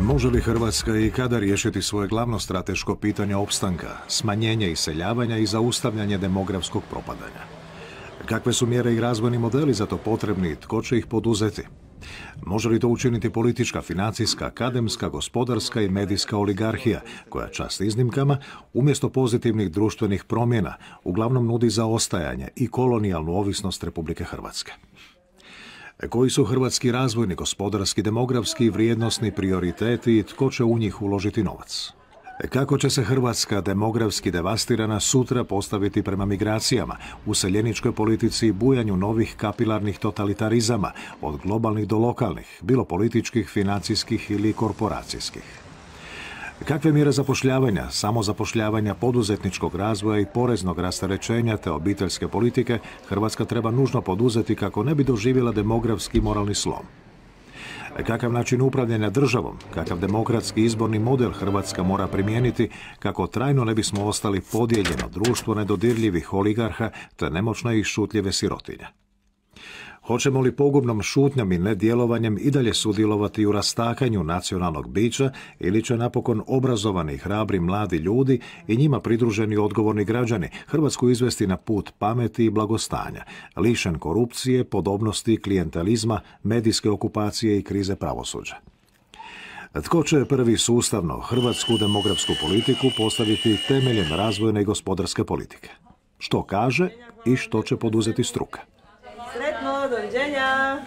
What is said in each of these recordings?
Može li Hrvatska i kada riješiti svoje glavno strateško pitanje opstanka, smanjenje iseljavanja i zaustavljanje demografskog propadanja? Kakve su mjere i razvojni modeli za to potrebni i tko će ih poduzeti? Može li to učiniti politička, financijska, akademska, gospodarska i medijska oligarhija, koja čast iznimkama, umjesto pozitivnih društvenih promjena, uglavnom nudi zaostajanje i kolonijalnu ovisnost Republike Hrvatske? Koji su hrvatski razvojni, gospodarski, demografski i vrijednosni prioriteti i tko će u njih uložiti novac? Kako će se Hrvatska demografski devastirana sutra postaviti prema migracijama, useljeničkoj politici i bujanju novih kapilarnih totalitarizama, od globalnih do lokalnih, bilo političkih, financijskih ili korporacijskih? Kakve mjere zapošljavanja, samozapošljavanja, poduzetničkog razvoja i poreznog rasterećenja te obiteljske politike Hrvatska treba nužno poduzeti kako ne bi doživjela demografski i moralni slom? Kakav način upravljanja državom, kakav demokratski izborni model Hrvatska mora primijeniti kako trajno ne bismo ostali podijeljeno društvo nedodirljivih oligarha te nemoćne i šutljive sirotinje? Hoćemo li pogubnom šutnjom i nedjelovanjem i dalje sudjelovati u rastakanju nacionalnog bića ili će napokon obrazovani, hrabri mladi ljudi i njima pridruženi odgovorni građani Hrvatsku izvesti na put pameti i blagostanja, lišen korupcije, podobnosti, klijentelizma, medijske okupacije i krize pravosuđa? Tko će prvi sustavno hrvatsku demografsku politiku postaviti temeljem razvojne i gospodarske politike? Što kaže i što će poduzeti struka? Sretno, doviđenja!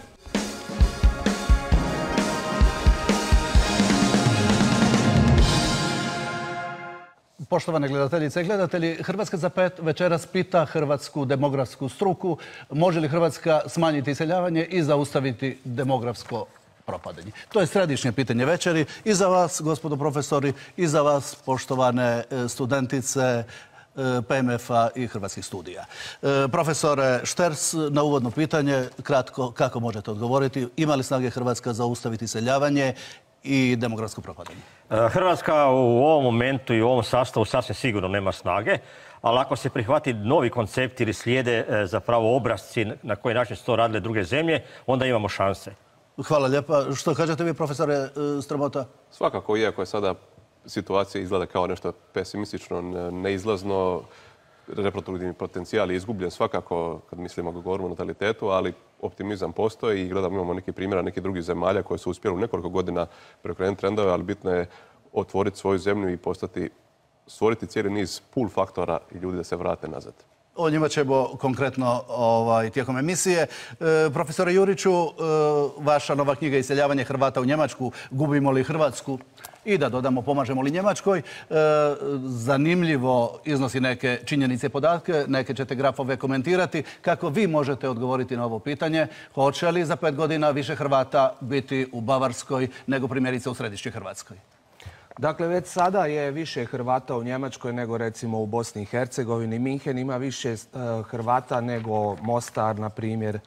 Poštovane gledateljice i gledatelji, Hrvatska za 5 večeras pita hrvatsku demografsku struku može li Hrvatska smanjiti iseljavanje i zaustaviti demografsko propadanje. To je središnje pitanje večeri i za vas, gospodo profesori, i za vas, poštovane studentice PMF-a i Hrvatskih studija. Profesore Šters, na uvodno pitanje, kratko, kako možete odgovoriti? Ima li snage Hrvatska zaustaviti iseljavanje i demografsko propadanje? Hrvatska u ovom momentu i u ovom sastavu sasvim sigurno nema snage, ali ako se prihvati novi koncept ili slijede zapravo obrasci na koji način su to radile druge zemlje, onda imamo šanse. Hvala lijepa. Što kažete vi, profesore Strmota? Svakako, iako je sada situacija izgleda kao nešto pesimistično, neizlazno, reproduktivni potencijal je izgubljen svakako kad mislimo govorimo o natalitetu, ali optimizam postoji i gledamo, imamo neki primjera nekih drugih zemalja koje su uspjeli u nekoliko godina preokrenuti trendove, ali bitno je otvoriti svoju zemlju i stvoriti cijeli niz pull faktora i ljudi da se vrate nazad. O njima ćemo konkretno tijekom emisije. Profesore Juriću, vaša nova knjiga Iseljavanje Hrvata u Njemačku, gubimo li Hrvatsku? I da dodamo, pomažemo li Njemačkoj? Zanimljivo iznosi neke činjenice i podatke, neke ćete grafove komentirati. Kako vi možete odgovoriti na ovo pitanje? Hoće li za 5 godina više Hrvata biti u Bavarskoj nego primjerice u središnjoj Hrvatskoj? Dakle, već sada je više Hrvata u Njemačkoj nego recimo u Bosni i Hercegovini. Minhen ima više Hrvata nego Mostar, na primjer.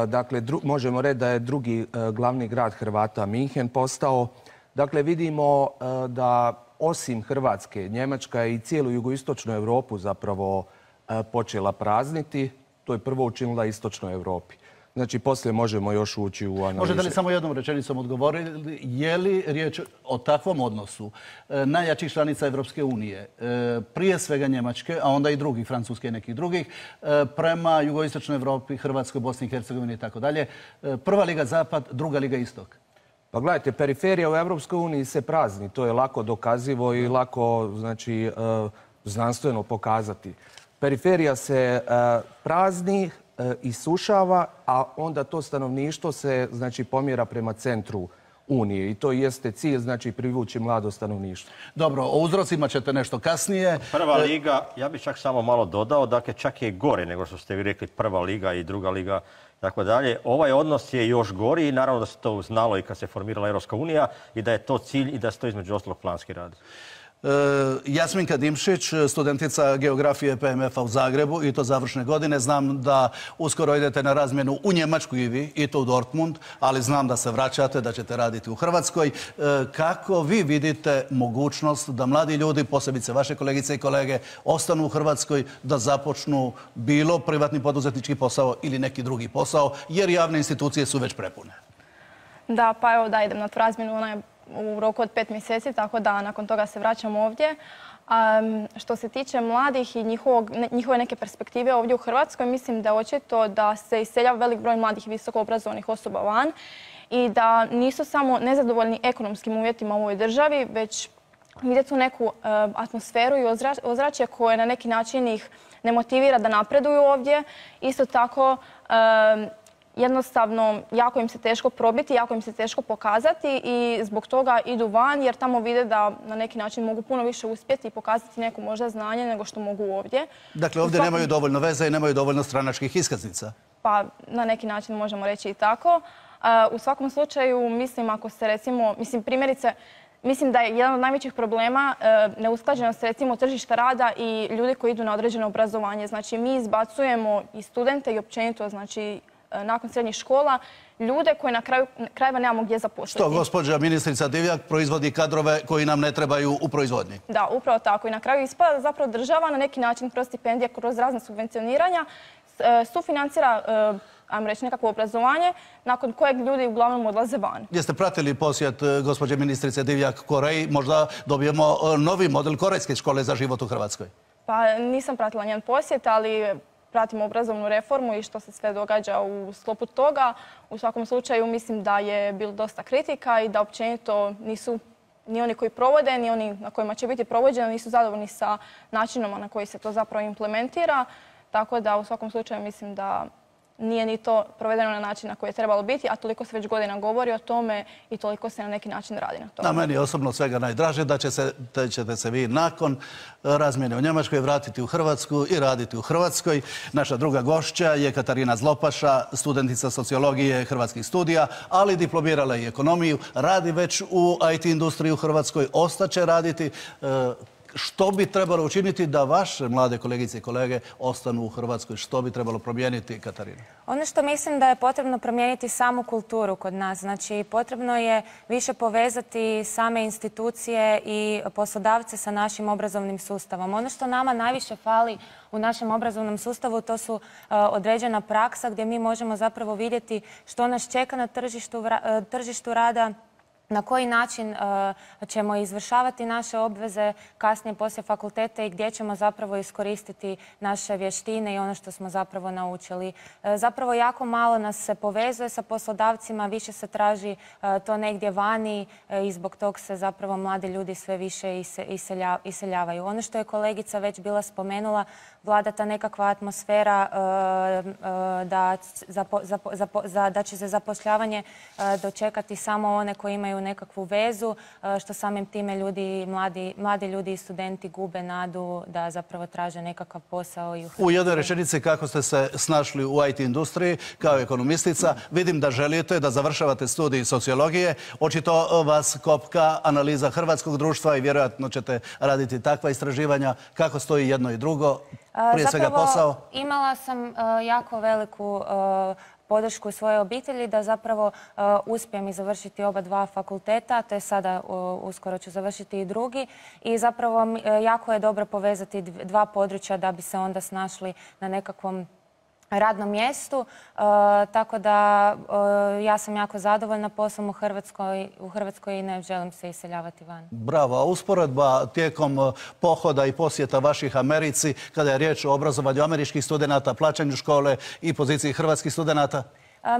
Dakle, možemo reći da je drugi glavni grad Hrvata Minhen postao. Dakle, vidimo da osim Hrvatske, Njemačka je i cijelu jugoistočnu Europu zapravo počela prazniti. To je prvo učinila istočnoj Europi. Znači, poslije možemo još ući u analize. Možete li samo jednom rečenicom odgovoriti, je li riječ o takvom odnosu najjačih članica Evropske unije, prije svega Njemačke, a onda i drugih, Francuske i nekih drugih, prema jugoistočnoj Europi, Hrvatskoj, Bosni i Hercegovini i tako dalje, prva liga zapad, druga liga istok? Pa gledajte, periferija u Evropskoj uniji se prazni. To je lako dokazivo i lako, znači, znanstveno pokazati. Periferija se prazni, isušava, a onda to stanovništvo se, znači, pomjera prema centru Unije. I to jeste cilj, znači, privući mlado stanovništvo. Dobro, o uzrocima ćete nešto kasnije. Prva liga, ja bih čak samo malo dodao, dakle, čak je gore nego što ste vi rekli, prva liga i druga liga, tako dalje. Ovaj odnos je još gori i naravno da se to znalo i kad se formirala Europska unija i da je to cilj i da se to između ostalog planski radi. Jasminka Dimšić, studentica geografije PMF-a u Zagrebu i to završne godine. Znam da uskoro idete na razmjenu u Njemačku i vi, i to u Dortmund, ali znam da se vraćate, da ćete raditi u Hrvatskoj. Kako vi vidite mogućnost da mladi ljudi, posebice vaše kolegice i kolege, ostanu u Hrvatskoj, da započnu bilo privatni poduzetnički posao ili neki drugi posao, jer javne institucije su već prepune? Da, pa evo da idem na tu razmjenu, ona je u roku od 5 mjeseci, tako da nakon toga se vraćam ovdje. Što se tiče mladih i njihove neke perspektive ovdje u Hrvatskoj, mislim da je očito da se iseljava velik broj mladih visoko obrazovanih osoba van i da nisu samo nezadovoljni ekonomskim uvjetima u ovoj državi, već vidjeti tu neku atmosferu i ozračje koje na neki način ih ne motivira da napreduju ovdje. Isto tako, jednostavno, jako im se teško probiti, jako im se teško pokazati i zbog toga idu van jer tamo vide da na neki način mogu puno više uspjeti i pokazati neko možda znanje nego što mogu ovdje. Dakle, ovdje nemaju dovoljno veze i nemaju dovoljno stranačkih iskaznica? Pa, na neki način možemo reći i tako. U svakom slučaju, mislim, ako se recimo, primjerice, mislim da je jedan od najvećih problema neusklađenost recimo tržišta rada i ljudi koji idu na određeno obrazovanje. Znači, mi izbacujemo i studente i općenito, znači, nakon srednjih škola, ljude koje na kraju krajeva nemamo gdje zaposliti. Što, gospođa ministrica Divjak proizvodi kadrove koji nam ne trebaju u proizvodnji? Da, upravo tako. I na kraju ispada zapravo država na neki način kroz stipendije, kroz razne subvencioniranja sufinancira, ajmo reći, nekakvo obrazovanje nakon kojeg ljudi uglavnom odlaze van. Jeste pratili posjet gospođe ministrice Divjak Koreji? Možda dobijemo novi model korejske škole za život u Hrvatskoj? Pa nisam pratila njen posjet, ali pratimo obrazovnu reformu i što se sve događa u sklopu toga. U svakom slučaju mislim da je bilo dosta kritika i da općenito nisu ni oni koji provode, ni oni na kojima će biti provođeno, nisu zadovoljni sa načinom na koji se to zapravo implementira. Tako da u svakom slučaju mislim da nije ni to provedeno na način na koji je trebalo biti, a toliko se već godina govori o tome i toliko se na neki način radi na tome. Na meni je osobno svega najdraže da ćete se vi nakon razmjene u Njemačkoj vratiti u Hrvatsku i raditi u Hrvatskoj. Naša druga gošća je Katarina Zlopaša, studentica sociologije Hrvatskih studija, ali diplomirala i ekonomiju. Radi već u IT industriji u Hrvatskoj, ostaće raditi. Što bi trebalo učiniti da vaše mlade kolegice i kolege ostanu u Hrvatskoj? Što bi trebalo promijeniti, Katarina? Ono što mislim da je potrebno promijeniti samu kulturu kod nas. Znači, potrebno je više povezati same institucije i poslodavce sa našim obrazovnim sustavom. Ono što nama najviše fali u našem obrazovnom sustavu, to su određena praksa gdje mi možemo zapravo vidjeti što nas čeka na tržištu rada, na koji način ćemo izvršavati naše obveze kasnije poslije fakulteta i gdje ćemo zapravo iskoristiti naše vještine i ono što smo zapravo naučili. Zapravo jako malo nas se povezuje sa poslodavcima, više se traži to negdje vani i zbog tog se zapravo mladi ljudi sve više iseljavaju. Ono što je kolegica već bila spomenula, vlada ta nekakva atmosfera da će se zapošljavanje dočekati samo one koji imaju nekakvu vezu, što samim time mladi ljudi i studenti gube nadu da zapravo traže nekakav posao. U jednoj rečenici, kako ste se snašli u IT industriji kao ekonomistica, vidim da želite da završavate studij sociologije. Očito vas kopka analiza hrvatskog društva i vjerojatno ćete raditi takva istraživanja. Kako stoji jedno i drugo? Prije svega posao? Imala sam jako veliku podršku svoje obitelji da zapravo uspijem i završiti oba dva fakulteta, te sada uskoro ću završiti i drugi. I zapravo jako je dobro povezati dva područja da bi se onda snašli na nekakvom radnom mjestu, tako da ja sam jako zadovoljna poslom u Hrvatskoj i ne želim se iseljavati van. Bravo. A usporedba tijekom pohoda i posjeta vaših Americi, kada je riječ o obrazovanju američkih studenata, plaćanju škole i poziciji hrvatskih studenata?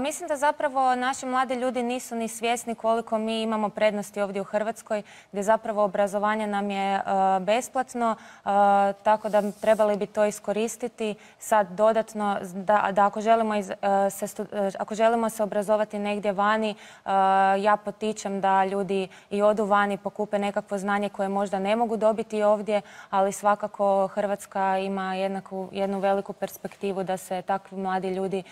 Mislim da zapravo naši mladi ljudi nisu ni svjesni koliko mi imamo prednosti ovdje u Hrvatskoj, gdje zapravo obrazovanje nam je besplatno, tako da trebali bi to iskoristiti sad dodatno, da ako želimo se obrazovati negdje vani, ja potičem da ljudi i odu vani, pokupe nekakvo znanje koje možda ne mogu dobiti ovdje, ali svakako Hrvatska ima jednu veliku perspektivu da se takvi mladi ljudi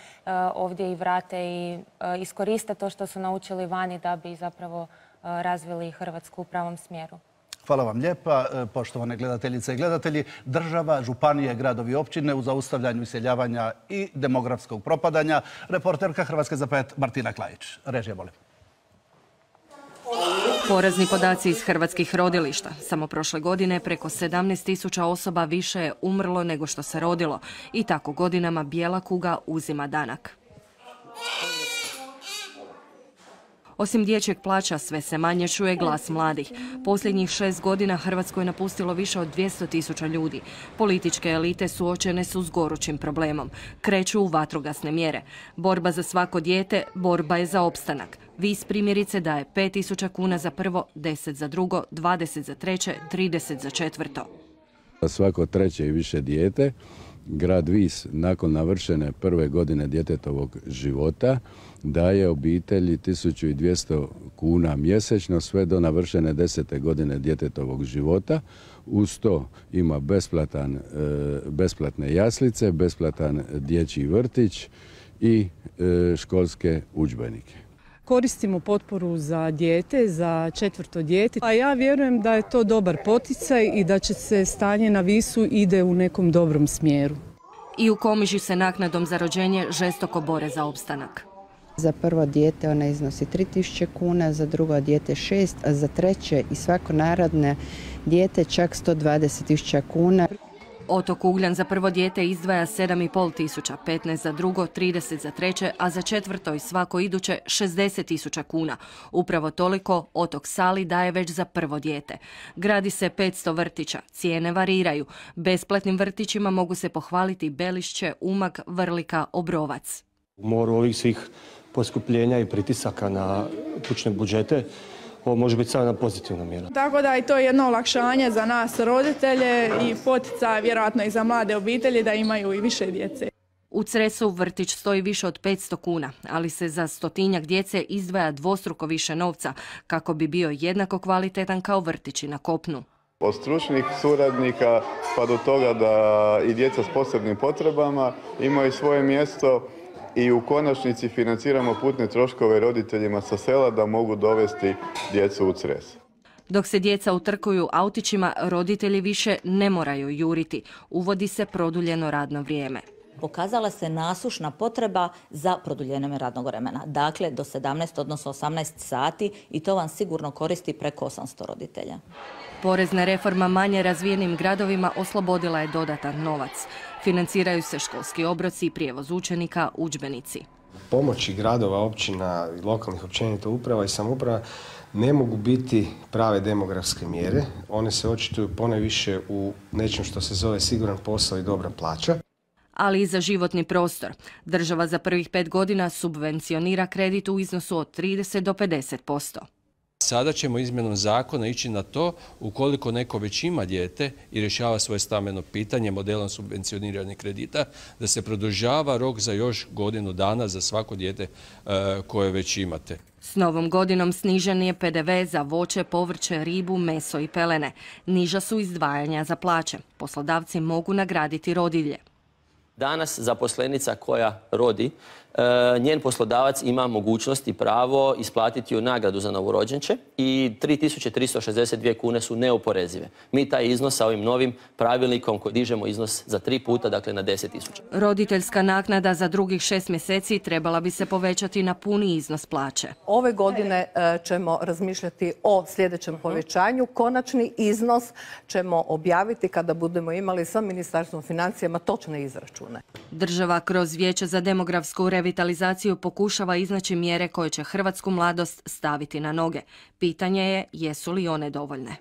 ovdje i vrate i iskoriste to što su naučili vani da bi zapravo razvili Hrvatsku u pravom smjeru. Hvala vam lijepa, poštovane gledateljice i gledatelji. Država, županije, gradovi i općine u zaustavljanju iseljavanja i demografskog propadanja. Reporterka Hrvatske za 5 Martina Klajić. Režija, molim. Porazni podaci iz hrvatskih rodilišta. Samo prošle godine preko 17.000 osoba više je umrlo nego što se rodilo. I tako godinama bijela kuga uzima danak. Osim dječjeg plaća, sve se manje čuje glas mladih. Posljednjih 6 godina Hrvatsku je napustilo više od 200.000 ljudi. Političke elite suočene su s gorućim problemom. Kreću u vatrogasne mjere. Borba za svako dijete, borba je za opstanak. Vis primjerice daje 5.000 kuna za prvo, 10 za drugo, 20 za treće, 30 za četvrto. Svako treće i više dijete, grad Vis nakon navršene prve godine djetetovog života daje obitelji 1.200 kuna mjesečno sve do navršene 10. godine djetetovog života. Uz to ima besplatne jaslice, besplatan dječji vrtić i školske udžbenike. Koristimo potporu za dijete, za četvrto dijete, a ja vjerujem da je to dobar poticaj i da će se stanje na Visu ide u nekom dobrom smjeru. I u Komiži se naknadom za rođenje žestoko bore za opstanak. Za prvo dijete ona iznosi 3.000 kuna, za drugo dijete 6, a za treće i svako naredno dijete čak 120.000 kuna. Otok Ugljan za prvo dijete izdvaja 7.500, 15 za drugo, 30 za treće, a za četvrto i svako iduće 60.000 kuna. Upravo toliko Otok Sali daje već za prvo dijete. Gradi se 500 vrtića, cijene variraju. Besplatnim vrtićima mogu se pohvaliti Belišće, Umag, Vrlika, Obrovac. U moru ovih svih poskupljenja i pritisaka na kućne budžete, ovo može biti samo jedna pozitivna mjera. Tako da je to jedno olakšanje za nas roditelje i poticaj vjerojatno i za mlade obitelji da imaju i više djece. U Cresu vrtić stoji više od 500 kuna, ali se za 100-tinjak djece izdvaja dvostruko više novca kako bi bio jednako kvalitetan kao vrtići na kopnu. Od stručnih suradnika pa do toga da i djeca s posebnim potrebama imaju svoje mjesto i u konačnici financiramo putne troškove roditeljima sa sela da mogu dovesti djecu u Cres. Dok se djeca utrkuju autićima, roditelji više ne moraju juriti. Uvodi se produljeno radno vrijeme. Pokazala se nasušna potreba za produljenjem radnog vremena. Dakle, do 17, odnosno 18 sati i to vam sigurno koristi preko 800 roditelja. Porezna reforma manje razvijenim gradovima oslobodila je dodatan novac. Financiraju se školski obroci, prijevoz učenika, udžbenici. Pomoći gradova, općina, lokalnih općenito uprava i samouprava ne mogu biti prave demografske mjere. One se očituju ponajviše u nečem što se zove siguran posao i dobra plaća. Ali i za životni prostor. Država za prvih 5 godina subvencionira kredit u iznosu od 30 do 50%. Sada ćemo izmjenom zakona ići na to ukoliko neko već ima dijete i rješava svoje stambeno pitanje modelom subvencioniranih kredita, da se produžava rok za još godinu dana za svako dijete koje već imate. S novom godinom snižen je PDV za voće, povrće, ribu, meso i pelene. Niža su izdvajanja za plaće. Poslodavci mogu nagraditi rodilje. Danas zaposlenica koja rodi, njen poslodavac ima mogućnost i pravo isplatiti joj nagradu za novorođenče i 3.362 kune su neoporezive. Mi taj iznos sa ovim novim pravilnikom koji dižemo iznos za 3 puta, dakle na 10.000. Roditeljska naknada za drugih 6 mjeseci trebala bi se povećati na puni iznos plaće. Ove godine ćemo razmišljati o sljedećem povećanju. Konačni iznos ćemo objaviti kada budemo imali sa Ministarstvom financijama točne izračune. Država kroz Vijeće za demografsku revitalizaciju pokušava iznaći mjere koje će hrvatsku mladost staviti na noge. Pitanje je jesu li one dovoljne.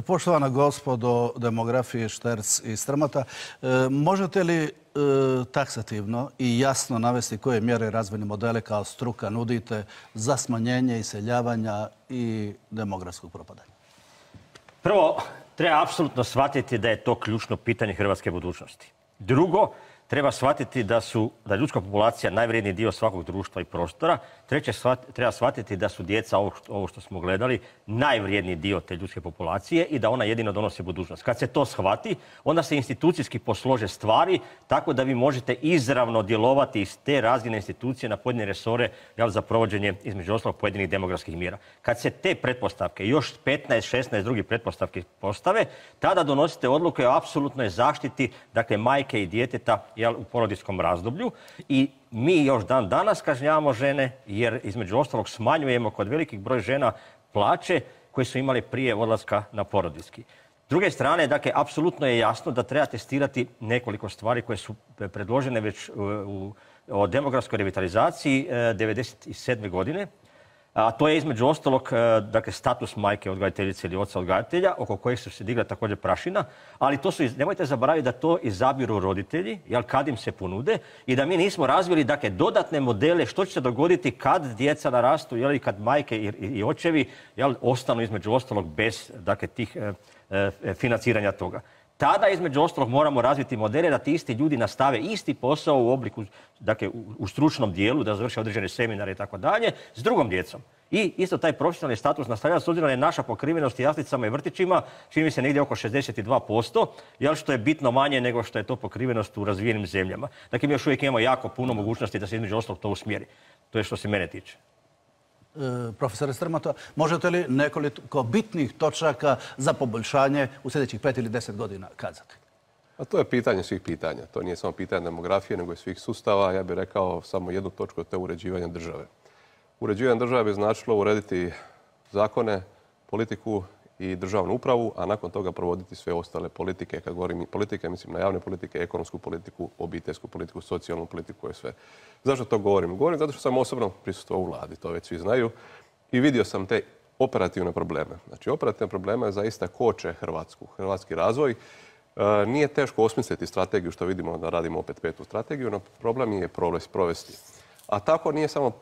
Poštovana gospodo demografije Šterc i Strmota, možete li taksativno i jasno navesti koje mjere i razvojne modele kao struka nudite za smanjenje iseljavanja i demografskog propadanja? Prvo, treba apsolutno shvatiti da je to ključno pitanje hrvatske budućnosti. Drugo, treba shvatiti da je ljudska populacija najvrijedniji dio svakog društva i prostora. Treće, treba shvatiti da su djeca, ovo što smo gledali, najvrijedniji dio te ljudske populacije i da ona jedino donosi budućnost. Kad se to shvati, onda se institucijski poslože stvari tako da vi možete izravno djelovati iz te razine institucije na pojedine resore za provođenje, između ostalog, pojedinih demografskih mjera. Kad se te pretpostavke, još 15-16 drugih pretpostavki postave, tada donosite odluke o apsolutnoj zaštiti, dakle, majke i djeteta u porodiljskom razdoblju i mi još dan danas kažnjavamo žene jer između ostalog smanjujemo kod velikih broj žena plaće koje su imali prije odlaska na porodiljski. S druge strane, dakle, apsolutno je jasno da treba testirati nekoliko stvari koje su predložene već o demografskoj revitalizaciji 1997. godine. A to je između ostalog, dakle, status majke odgajateljice ili oca odgajatelja, oko kojeg su se digla također prašina, ali to su, nemojte zaboraviti da to izabiru roditelji, jel, kad im se ponude, i da mi nismo razvili, dakle, dodatne modele što će se dogoditi kad djeca narastu, jel, i kad majke i očevi, jel, ostanu između ostalog bez, dakle, tih financiranja toga. Tada, između ostalog, moramo razviti modele da ti isti ljudi nastave isti posao u obliku, dakle, u stručnom dijelu, da završe određene seminare i tako dalje, s drugom djecom. I isto taj profesionalni status nastavlja, s obzirom da je naša pokrivenost jaslicama i vrtićima, čini mi se negdje oko 62%, jel, što je bitno manje nego što je to pokrivenost u razvijenim zemljama. Dakle, mi još uvijek imamo jako puno mogućnosti da se između ostalog to usmjeri. To je što se mene tiče. Profesore Strmota, možete li nekoliko bitnih točaka za poboljšanje u sljedećih 5 ili 10 godina kazati? A to je pitanje svih pitanja. To nije samo pitanje demografije, nego i svih sustava. Ja bih rekao samo jednu točku, to je uređivanje države. Uređivanje države bi značilo urediti zakone, politiku i državnu upravu, a nakon toga provoditi sve ostale politike. Kad govorim politike, mislim na javne politike, ekonomsku politiku, obiteljsku politiku, socijalnu politiku i sve. Zašto to govorim? Govorim zato što sam osobno prisustvovao u vladi, to već svi znaju, i vidio sam te operativne probleme. Znači, operativne probleme zaista koče hrvatski razvoj. Nije teško osmisliti strategiju, što vidimo da radimo opet 5. strategiju, no problem je provesti. A tako nije samo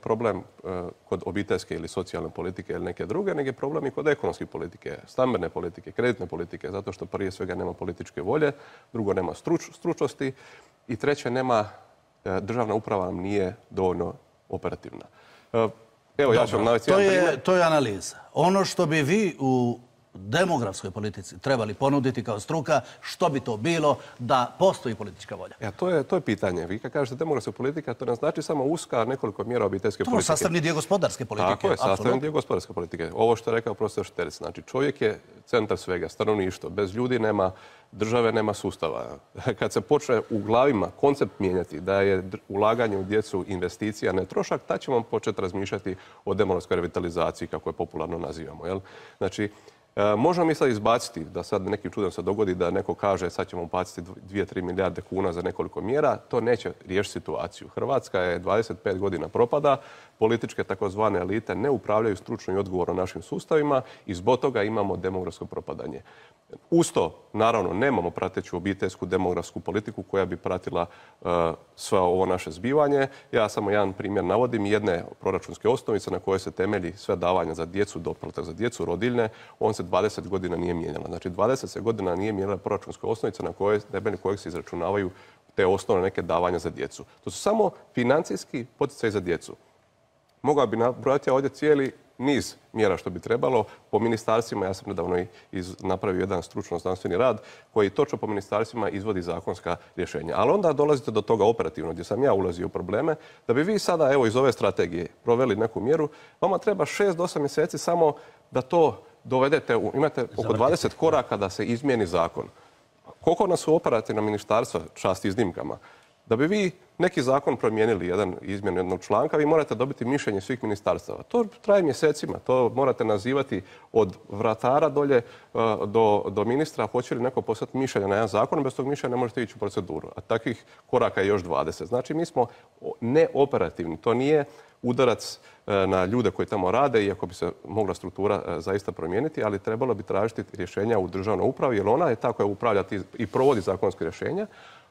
problem kod obiteljske ili socijalne politike ili neke druge, nego je problem i kod ekonomske politike, stambene politike, kreditne politike, zato što prije svega nema političke volje, drugo nema stručnosti i treće državna uprava nam nije dovoljno operativna. Evo, ja ću vam navesti jedan primjer. To je analiza. Ono što bi vi u demografskoj politici trebali ponuditi kao struka, što bi to bilo da postoji politička volja? To je pitanje. Vi kad kažete demografska politika, to ne znači samo uska nekoliko mjera obiteljske politike. To je sastavni dio gospodarske politike. Tako je, sastavni dio gospodarske politike. Ovo što je rekao profesor Šterc, znači čovjek je centar svega, stanovništvo. Bez ljudi nema države, nema sustava. Kad se počne u glavima koncept mijenjati da je ulaganje u djecu investicija, ne trošak, tad ćemo početi razmišljati o demografskoj revitalizaciji, kako je popularno nazivamo. Jel? Znači, možemo mi sad izbaciti, da sad nekim čudom se dogodi da neko kaže sad ćemo baciti 2-3 milijarde kuna za nekoliko mjera, to neće riješiti situaciju. Hrvatska je 25 godina propada, političke takozvane elite ne upravljaju stručno i odgovorno našim sustavima i zbog toga imamo demografsko propadanje. Uz to, naravno, nemamo prateću obiteljsku demografsku politiku koja bi pratila sve ovo naše zbivanje. Ja samo jedan primjer navodim, jedne proračunske osnovice na koje se temelji sve davanja za djecu, doplatak za djecu, rodiljne, on se 20 godina nije mijenjala. Znači 20 se godina nije mijenjala proračunska osnovica na temelju kojeg se izračunavaju te osnovne neke davanja za djecu. To su samo financijski poticaji za djecu. Mogao bi nabrojati ovdje cijeli niz mjera što bi trebalo po ministarstvima. Ja sam nedavno napravio jedan stručno znanstveni rad koji točno po ministarstvima izvodi zakonska rješenja. Ali onda dolazite do toga operativno gdje sam ja ulazio u probleme. Da bi vi sada evo iz ove strategije proveli neku mjeru, vama treba 6 do 8 mjeseci samo da to dovedete. Imate oko 20 koraka da se izmijeni zakon. Koliko nas su operativna ministarstva, čast iznimkama, da bi vi neki zakon promijenili, izmjenu jednog članka, vi morate dobiti mišljenje svih ministarstava. To traje mjesecima, to morate nazivati od vratara dolje do ministra, hoće li neko poslati mišljenje na jedan zakon, bez tog mišljenja ne možete ići u proceduru. A takvih koraka je još 20. Znači, mi smo neoperativni. To nije udarac na ljude koji tamo rade, iako bi se mogla struktura zaista promijeniti, ali trebalo bi tražiti rješenja u državnoj upravi, jer ona je ta koja upravlja i provodi zakonske rješenja.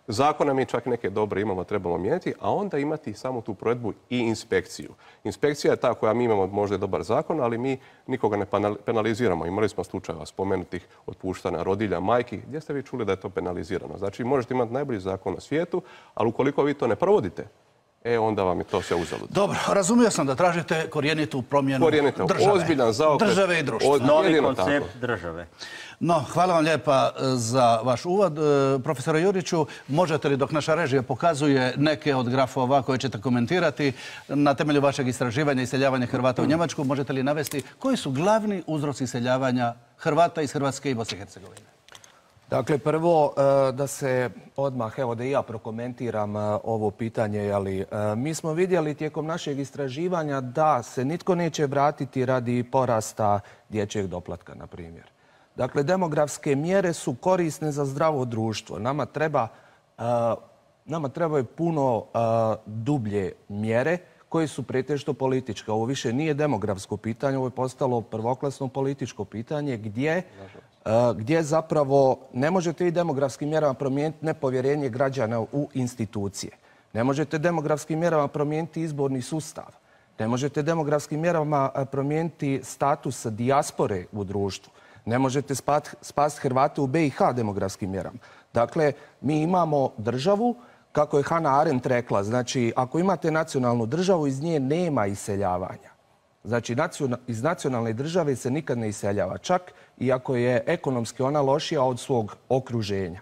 Zakone mi čak neke dobre imamo, trebamo mijenjati, a onda imati samo tu provedbu i inspekciju. Inspekcija je ta koja mi imamo možda dobar zakon, ali mi nikoga ne penaliziramo. Imali smo slučajeva spomenutih otpuštanja rodilja, majki. Gdje ste vi čuli da je to penalizirano? Znači, možete imati najbolji zakon na svijetu, ali ukoliko vi to ne provodite, onda vam je to sve uzalud. Dobro, razumio sam da tražite korijenitu promjenu države. Ozbiljan zaokret. Države i društva. Novi koncept države. No, hvala vam lijepa za vaš uvod. Profesore Juriću, možete li, dok naša režija pokazuje neke od grafova koje ćete komentirati, na temelju vašeg istraživanja iseljavanja Hrvata u Njemačku, možete li navesti koji su glavni uzroci iseljavanja Hrvata iz Hrvatske i Bosne i Hercegovine? Dakle, prvo da se odmah, evo da i ja prokomentiram ovo pitanje, ali mi smo vidjeli tijekom našeg istraživanja da se nitko neće vratiti radi porasta dječjeg doplatka, na primjer. Dakle, demografske mjere su korisne za zdravo društvo. Nama trebaju puno dublje mjere koje su pretežito političke. Ovo više nije demografsko pitanje, ovo je postalo prvoklasno političko pitanje gdje zapravo ne možete i demografskim mjerama promijeniti nepovjerenje građana u institucije. Ne možete demografskim mjerama promijeniti izborni sustav. Ne možete demografskim mjerama promijeniti status dijaspore u društvu. Ne možete spasiti Hrvate u BiH demografskim mjerama. Dakle, mi imamo državu, kako je Hannah Arendt rekla, znači ako imate nacionalnu državu, iz nje nema iseljavanja. Znači, iz nacionalne države se nikad ne iseljava, čak i ako je ekonomski ona lošija od svog okruženja.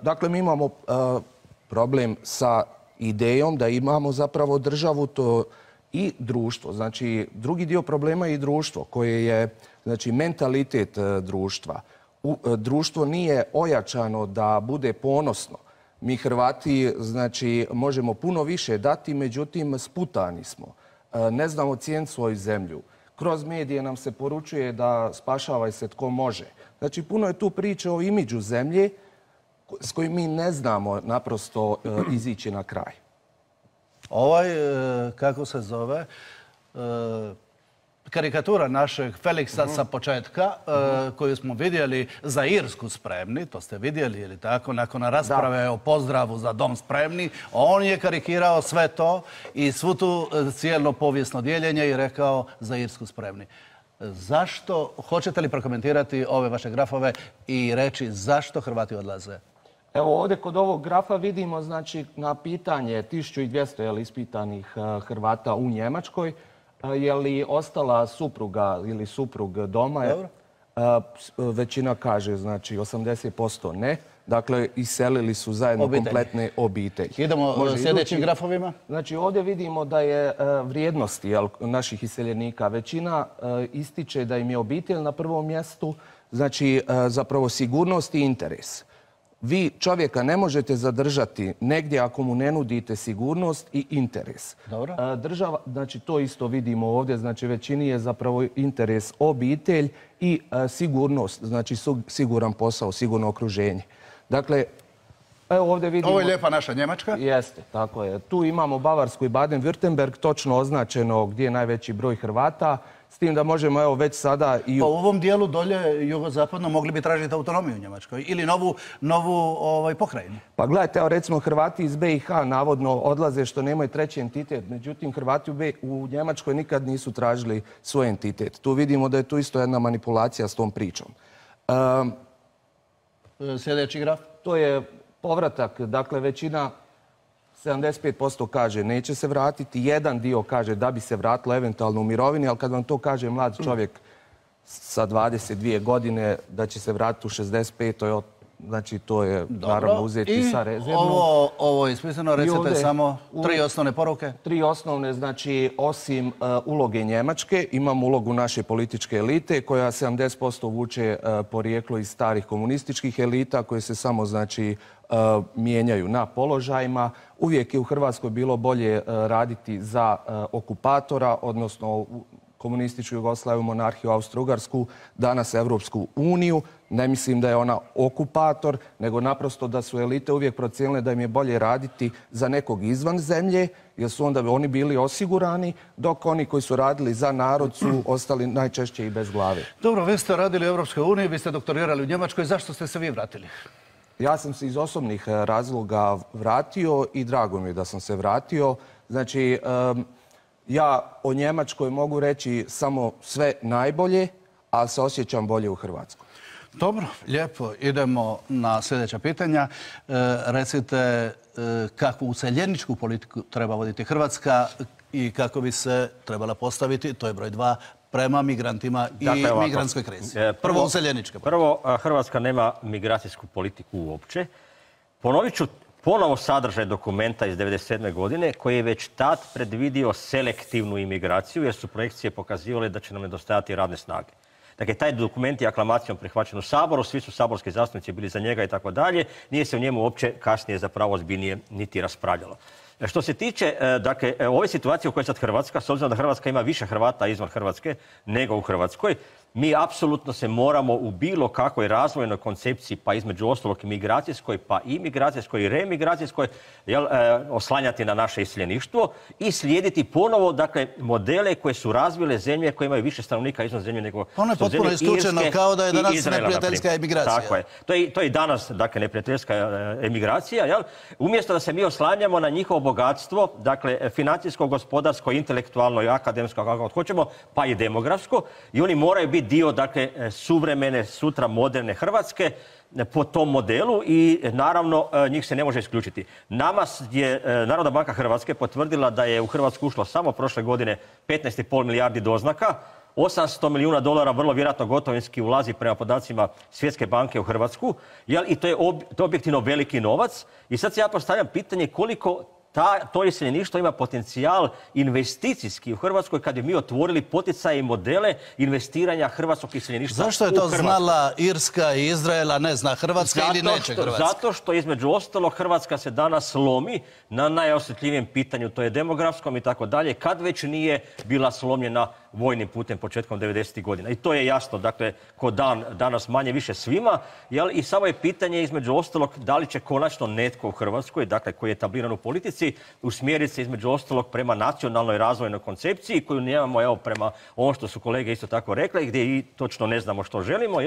Dakle, mi imamo problem sa idejom da imamo zapravo državu i društvo. Znači, drugi dio problema je i društvo koje je, znači, mentalitet društva. Društvo nije ojačano da bude ponosno. Mi Hrvati, znači, možemo puno više dati, međutim, sputani smo. Ne znamo cijeniti svoju zemlju. Kroz medije nam se poručuje da spašavaj se tko može. Znači, puno je tu priče o imidžu zemlje s kojim mi ne znamo naprosto izići na kraj. Kako se zove, karikatura našeg Feliksa sa početka, koju smo vidjeli za Irsku spremni, to ste vidjeli ili tako, nakon rasprave o pozdravu za dom spremni, on je karikirao sve to i svu tu cijelo povijesno dijeljenje i rekao za Irsku spremni. Zašto, hoćete li prokomentirati ove vaše grafove i reći zašto Hrvati odlaze? Evo ovdje kod ovog grafa vidimo, znači, na pitanje 1200 ispitanih Hrvata u Njemačkoj, je li ostala supruga ili suprug doma? Većina kaže, znači, 80% ne. Dakle, iselili su zajedno kompletne obitelji. Idemo sljedećim grafovima. Znači, ovdje vidimo da je vrijednosti naših iseljenika. Većina ističe da im je obitelj na prvom mjestu, znači, zapravo sigurnost i interes. Vi čovjeka ne možete zadržati negdje ako mu ne nudite sigurnost i interes. Država, znači to isto vidimo ovdje, znači većini je zapravo interes obitelj i sigurnost, znači siguran posao, sigurno okruženje. Dakle, evo ovdje vidimo... Ovo je lijepa naša Njemačka. Jeste, tako je. Tu imamo Bavarsku i Baden-Württemberg, točno označeno gdje je najveći broj Hrvata. S tim da možemo evo već sada i... Pa u ovom dijelu dolje jugozapadno mogli bi tražiti autonomiju u Njemačkoj ili novu pokrajinu. Pa gledajte, evo recimo Hrvati iz BiH navodno odlaze što nemaju treći entitet. Međutim, Hrvati u Njemačkoj nikad nisu tražili svoj entitet. Tu vidimo da je tu isto jedna manipulacija s tom pričom. Sljedeći graf? To je povratak. Dakle, većina 75% kaže neće se vratiti, jedan dio kaže da bi se vratilo eventualno u mirovini, ali kad vam to kaže mlad čovjek sa 22 godine da će se vratiti u 65, znači to je naravno uzeti sa rezervnom. Ovo je ispisano, recite samo 3 osnovne poruke. 3 osnovne, znači osim uloge Njemačke, imamo ulogu naše političke elite koja 70% vuče porijeklo iz starih komunističkih elita koje se samo, znači, mijenjaju na položajima. Uvijek je u Hrvatskoj bilo bolje raditi za okupatora, odnosno komunističku Jugoslaviju, monarhiju, Austro-Ugarsku, danas Evropsku uniju. Ne mislim da je ona okupator, nego naprosto da su elite uvijek procijenile da im je bolje raditi za nekog izvan zemlje, jer su onda oni bili osigurani, dok oni koji su radili za narod su ostali najčešće i bez glave. Dobro, vi ste radili u Evropskoj uniji, vi ste doktorirali u Njemačkoj. Zašto ste se vi vratili? Ja sam se iz osobnih razloga vratio i drago mi je da sam se vratio. Znači, ja o Njemačkoj mogu reći samo sve najbolje, ali se osjećam bolje u Hrvatskoj. Dobro, lijepo. Idemo na sljedeća pitanja. Recite kakvu useljeničku politiku treba voditi Hrvatska i kako bi se trebala postaviti, to je broj 2, prema migrantima i migrantskoj krizi. Prvo useljenička. Prvo, Hrvatska nema migracijsku politiku uopće. Ponovit ću ponovo sadržaj dokumenta iz 1997. godine koji je već tad predvidio selektivnu imigraciju jer su projekcije pokazivale da će nam nedostajati radne snage. Dakle, taj dokument je aklamacijom prihvaćen u Saboru, svi su saborski zastupnici bili za njega i tako dalje. Nije se u njemu uopće kasnije zapravo ozbiljnije niti raspravljalo. Što se tiče, dakle, ove situacije u kojoj je sad Hrvatska, s obzirom da Hrvatska ima više Hrvata izvan Hrvatske nego u Hrvatskoj, Mi apsolutno se moramo u bilo kakvoj razvojnoj koncepciji, pa između ostalog i migracijskoj, pa i migracijskoj i remigracijskoj, oslanjati na naše iseljeništvo i slijediti ponovo, dakle, modele koje su razvile zemlje koje imaju više stanovnika izvan zemlje nego ono je potpuno isključeno kao da je danas neprijateljska emigracija. Tako je. To je i danas, dakle, neprijateljska emigracija, jel? Umjesto da se mi oslanjamo na njihovo bogatstvo, dakle, financijsko, gospodarsko, intelektualno i akademsko, kako hoćemo, pa i demografsko, i oni moraju biti dio, dakle, suvremene, sutra moderne Hrvatske po tom modelu i naravno njih se ne može isključiti. Nama je Narodna banka Hrvatske potvrdila da je u Hrvatsku ušlo samo prošle godine 15,5 milijardi doznaka, 800 milijuna dolara vrlo vjerojatno gotovinski ulazi prema podacima Svjetske banke u Hrvatsku, i to je objektivno veliki novac. I sad se ja postavljam pitanje koliko to iseljeništvo ima potencijal investicijski u Hrvatskoj kad bi mi otvorili poticaje i modele investiranja hrvatskog iseljeništva. Zašto je to znala Irska i Izrael, a ne zna Hrvatska ili neće Hrvatska? Zato što između ostalog Hrvatska se danas slomi na najosjetljivijem pitanju, to je demografskom i tako dalje, kad već nije bila slomljena vojnim putem početkom 90. godina. I to je jasno, dakle, ko dan danas manje više svima, i samo je pitanje između ostalog da li će konačno netko u Hrvatskoj, dakle, koji je etabliran u politici, usmjeriti se između ostalog prema nacionalnoj razvojnoj koncepciji koju nemamo, evo, prema ovom što su kolege isto tako rekli, gdje i točno ne znamo što želimo,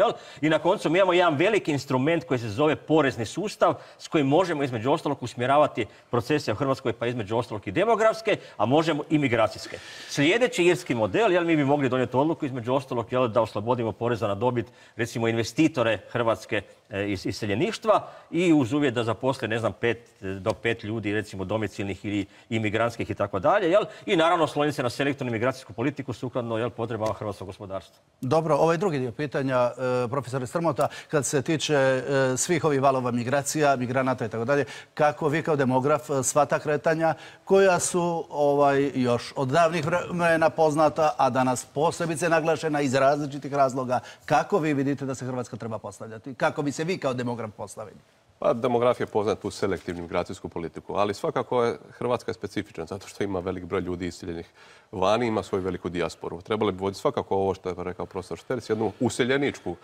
i na koncu mi imamo jedan veliki instrument koji se zove porezni sustav s kojim možemo između ostalog usmjeravati procese u Hrvatskoj, pa između ostalog i demografske, a možemo i migracijske. Sljedeći irski model, mi bi mogli donijeti odluku između ostalog da oslobodimo poreza na dobit, recimo, investitore Hrvatske iz iseljeništva i uz uvjet da zaposle, ne znam, 5 do 5 ljudi, recimo domicilnih ili imigrantskih i tako dalje, i naravno osloniti se na selektivnu migracijsku politiku sukladno potrebama hrvatskog gospodarstva. Dobro, ovaj drugi dio pitanja, profesore Strmota, kad se tiče svih ovih valova migracija, migranata i tako dalje, kako vi kao demograf sva ta kretanja koja su još od davnih vremena poznata, a danas posebice naglašena iz različitih razloga, kako vi vidite da se Hrvatska treba postavljati? Kako bi se vi kao demograf postavili? Pa demografija poznaje tu selektivnu migracijsku politiku, ali svakako je Hrvatska specifična zato što ima velik broj ljudi iseljenih vani, ima svoju veliku dijasporu. Trebali bi voditi svakako ovo što je rekao profesor Šterc, jednu useljeničku,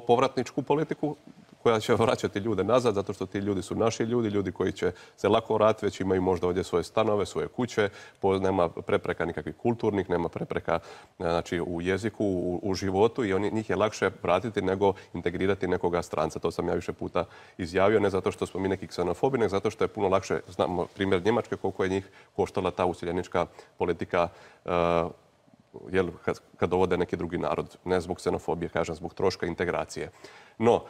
povratničku politiku koja će vraćati ljude nazad, zato što ti ljudi su naši ljudi, ljudi koji će se lako vratiti, već imaju možda ovdje svoje stanove, svoje kuće, nema prepreka nikakvih kulturnih, nema prepreka, znači, u jeziku, u životu, i njih je lakše vratiti nego integrirati nekoga stranca. To sam ja više puta izjavio, ne zato što smo mi neki ksenofobi, nego zato što je puno lakše, znamo primjer Njemačke, koliko je njih koštala ta useljenička politika kad dovode neki drugi narod. Ne zbog ksenofobije, kažem, zbog troška integracije. No,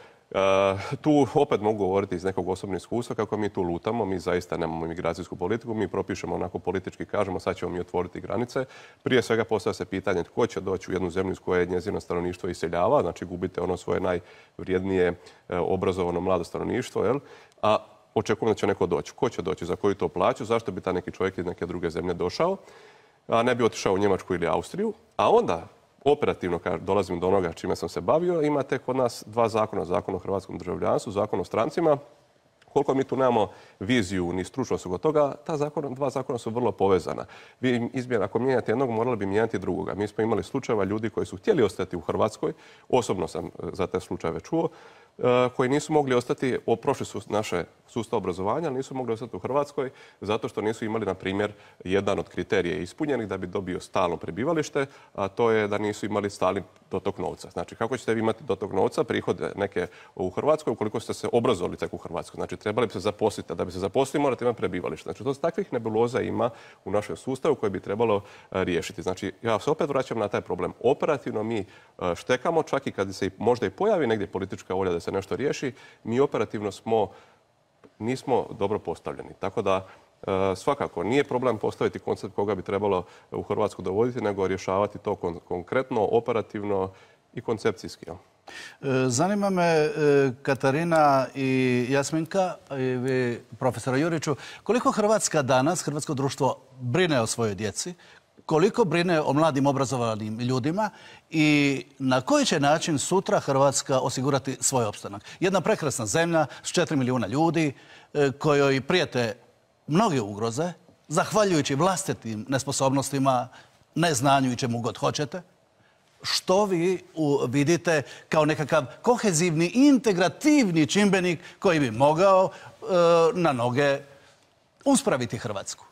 tu opet mogu govoriti iz nekog osobnog iskustva kako mi tu lutamo, mi zaista nemamo imigracijsku politiku, mi propišemo onako politički, kažemo sad ćemo mi otvoriti granice. Prije svega postavlja se pitanje tko će doći u jednu zemlju iz koje njezino stanovništvo iseljava, znači gubite ono svoje najvrijednije obrazovano mlado stanovništvo, a očekujemo da će neko doći. Ko će doći, za koju to plaću, zašto bi ta neki čovjek iz neke druge zemlje došao, a ne bi otišao u Njemačku ili Austriju, a onda operativno, kad dolazim do onoga čime sam se bavio, imate kod nas dva zakona. Zakon o hrvatskom državljanstvu, zakon o strancima. Koliko mi tu nemamo viziju ni stručnost oko toga, dva zakona su vrlo povezana. Vi ako mijenjate jednog, morali bi mijenjati drugoga. Mi smo imali slučajeva ljudi koji su htjeli ostati u Hrvatskoj, osobno sam za te slučajeve čuo, koji nisu mogli ostati, prošli su naše sustav obrazovanja, ali nisu mogli ostati u Hrvatskoj zato što nisu imali, na primjer, jedan od kriterija ispunjenih da bi dobio stalno prebivalište, a to je da nisu imali stalni dotok novca. Znači, kako ćete vi imati dotok novca, prihode neke u Hrvatskoj, ukoliko ste se obrazovali tek u Hrvatskoj? Znači, trebali bi se zaposliti, a da bi se zaposlili morate imati prebivalište. Znači, to takvih nebuloza ima u našem sustavu koje bi trebalo riješiti. Znači, ja se opet vraćam na taj problem. Operativno mi štekamo, čak i kad se možda i pojavi negdje politička volja da se nešto riješi, mi operativno nismo dobro postavljeni. Tako da svakako nije problem postaviti koncept koga bi trebalo u Hrvatsku dovoditi, nego rješavati to konkretno, operativno i koncepcijski. Zanima me, Katarina i Jasminka, i vi, profesora Juriću, koliko Hrvatska danas, hrvatsko društvo, brine o svojoj djeci, koliko brine o mladim obrazovanim ljudima i na koji će način sutra Hrvatska osigurati svoj opstanak. Jedna prekrasna zemlja s 4 milijuna ljudi kojoj prijete mnoge ugroze, zahvaljujući vlastitim nesposobnostima, neznanju i čemu god hoćete. što vi vidite kao nekakav kohezivni, integrativni čimbenik koji bi mogao na noge uspraviti Hrvatsku?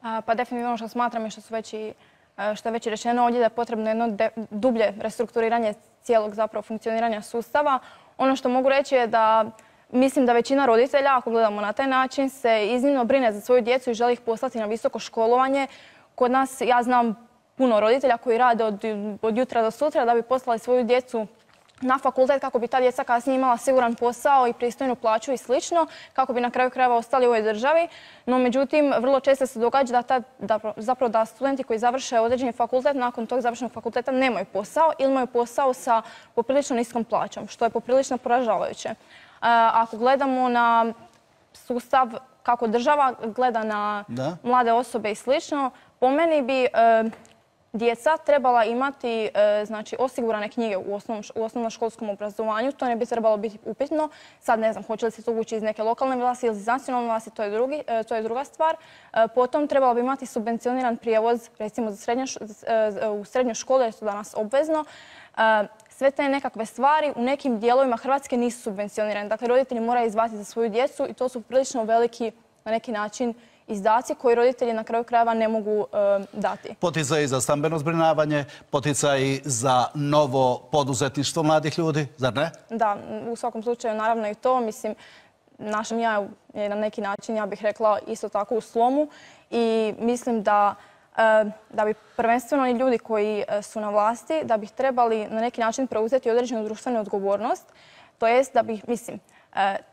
Pa definitivno ono što smatram i što je već rečeno ovdje da je potrebno jedno dublje restrukturiranje cijelog zapravo funkcioniranja sustava. Ono što mogu reći je da mislim da većina roditelja, ako gledamo na taj način, se iznimno brine za svoju djecu i želi ih poslati na visoko školovanje. Kod nas, ja znam puno roditelja koji rade od jutra do sutra da bi poslali svoju djecu na fakultet kako bi ta djeca kasnije imala siguran posao i pristojnu plaću i slično, kako bi na kraju krajeva ostali u ovoj državi. No, međutim, vrlo često se događa da studenti koji završe određeni fakultet nakon tog završenog fakulteta nemaju posao ili imaju posao sa poprilično niskom plaćom, što je poprilično poražavajuće. Ako gledamo na sustav kako država gleda na mlade osobe i slično, po meni bi djeca trebala imati osigurane knjige u osnovnoškolskom obrazovanju. To ne bi trebalo biti upitno. Sad ne znam, hoće li se to ući iz neke lokalne vlasti ili iz nacionalne vlasti, to je druga stvar. Potom trebalo bi imati subvencioniran prijevoz, recimo u srednjoj školi, jer je to danas obvezno. Sve te nekakve stvari u nekim dijelovima Hrvatske nisu subvencionirane. Dakle, roditelji moraju izdvajati za svoju djecu i to su prilično veliki, na neki način, izdaci koji roditelji na kraju krajeva ne mogu dati. Poticaji za stambeno zbrinjavanje, poticaji za novo poduzetništvo mladih ljudi, zar ne? Da, u svakom slučaju naravno i to. Mislim, naša ja je na neki način, ja bih rekla, isto tako u slomu i mislim da bi prvenstveno i ljudi koji su na vlasti, da bi trebali na neki način preuzeti određenu društvenu odgovornost, to jest da bi, mislim,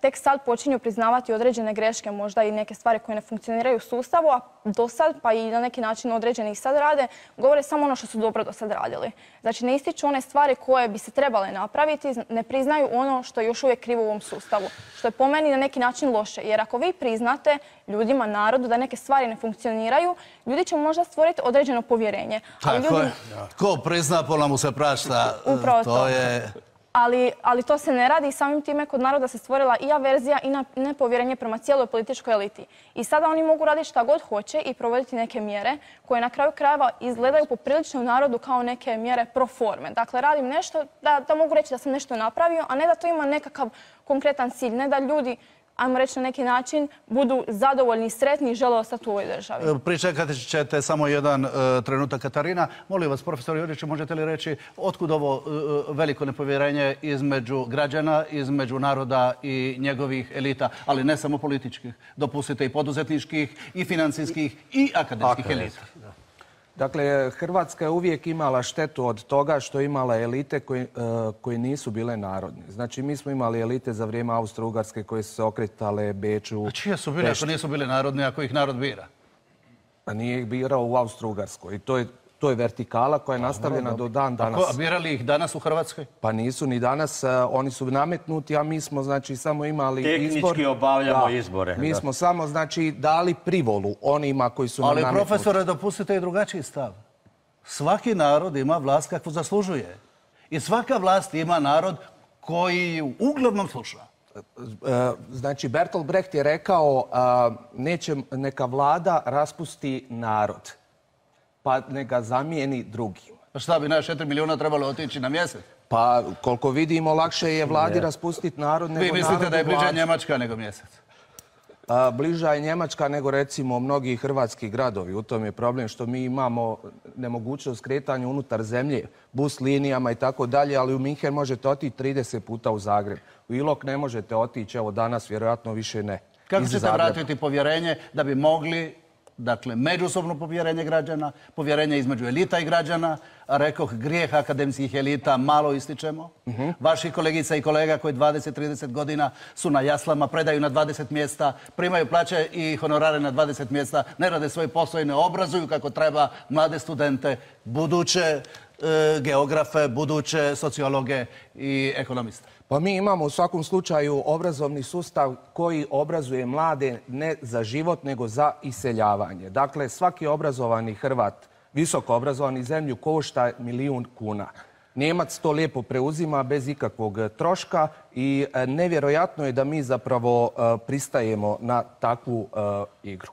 tek sad počinju priznavati određene greške, možda i neke stvari koje ne funkcioniraju u sustavu, a do sad, pa i na neki način određeni ih sad rade, govore samo ono što su dobro do sad radili. Znači, ne ističu one stvari koje bi se trebale napraviti, ne priznaju ono što je još uvijek krivo u ovom sustavu, što je po meni na neki način loše. Jer ako vi priznate ljudima, narodu, da neke stvari ne funkcioniraju, ljudi će možda stvoriti određeno povjerenje. Tako je. Ko prizna, pola mu se prašta. Upravo to. Ali to se ne radi i samim time kod naroda se stvorila i averzija i nepovjerenje prema cijeloj političkoj eliti. I sada oni mogu raditi šta god hoće i provoditi neke mjere koje na kraju krajeva izgledaju poprilično u narodu kao neke mjere pro forme. Dakle, radim nešto da mogu reći da sam nešto napravio, a ne da to ima nekakav konkretan cilj, ne da ljudi, ajmo reći na neki način, budu zadovoljni i sretni i žele ostati u ovoj državi. Pričekat ćete samo jedan trenutak, Katarina. Molim vas, profesor Juriću, možete li reći otkud ovo veliko nepovjerenje između građana, između naroda i njegovih elita, ali ne samo političkih, dopustite i poduzetničkih, i financijskih, i akademskih elita? Dakle, Hrvatska je uvijek imala štetu od toga što je imala elite koje nisu bile narodne. Znači, mi smo imali elite za vrijeme Austro-Ugarske koje su se okretale Beču. A čije su bile ako nisu bile narodne, ako ih narod bira? A nije ih birao u Austro-Ugarskoj. I to je vertikala koja je nastavljena do dan danas. A birali ih danas u Hrvatskoj? Pa nisu ni danas. Oni su nametnuti, a mi smo znači samo imali izbor. Tehnički obavljamo izbore. Mi smo samo znači dali privolu onima koji su nam nametnuti. Ali profesore, dopustite i drugačiji stav. Svaki narod ima vlast kakvu zaslužuje. I svaka vlast ima narod koji ju uglavnom sluša. Znači, Bertolt Brecht je rekao neka vlada raspusti narod, pa neka zamijeni drugim. Pa šta bi, 4 milijuna trebalo otići na mjesec? Pa koliko vidimo, lakše je vladi raspustiti narod nego narodu vladu. Vi mislite da je bliža Njemačka nego mjesec? Bliža je Njemačka nego recimo mnogi hrvatski gradovi. U tom je problem što mi imamo nemogućnost kretanja unutar zemlje, bus linijama i tako dalje, ali u Minhen možete otići 30 puta u Zagreb. U Ilok ne možete otići, evo danas vjerojatno više ne. Kako ćete vratiti povjerenje da bi mogli, dakle, međusobno povjerenje građana, povjerenje između elita i građana, a rekoh, grijeh akademskih elita malo ističemo. Vaši kolegica i kolega koji 20-30 godina su na jaslama, predaju na 20 mjesta, primaju plaće i honorare na 20 mjesta, ne rade svoj posao i ne obrazuju kako treba mlade studente, buduće geografe, buduće sociologe i ekonomiste. Pa mi imamo u svakom slučaju obrazovni sustav koji obrazuje mlade ne za život, nego za iseljavanje. Dakle, svaki obrazovani Hrvat, visoko obrazovani zemlju, košta 1 milijun kuna. Njemac to lijepo preuzima bez ikakvog troška i nevjerojatno je da mi zapravo pristajemo na takvu igru.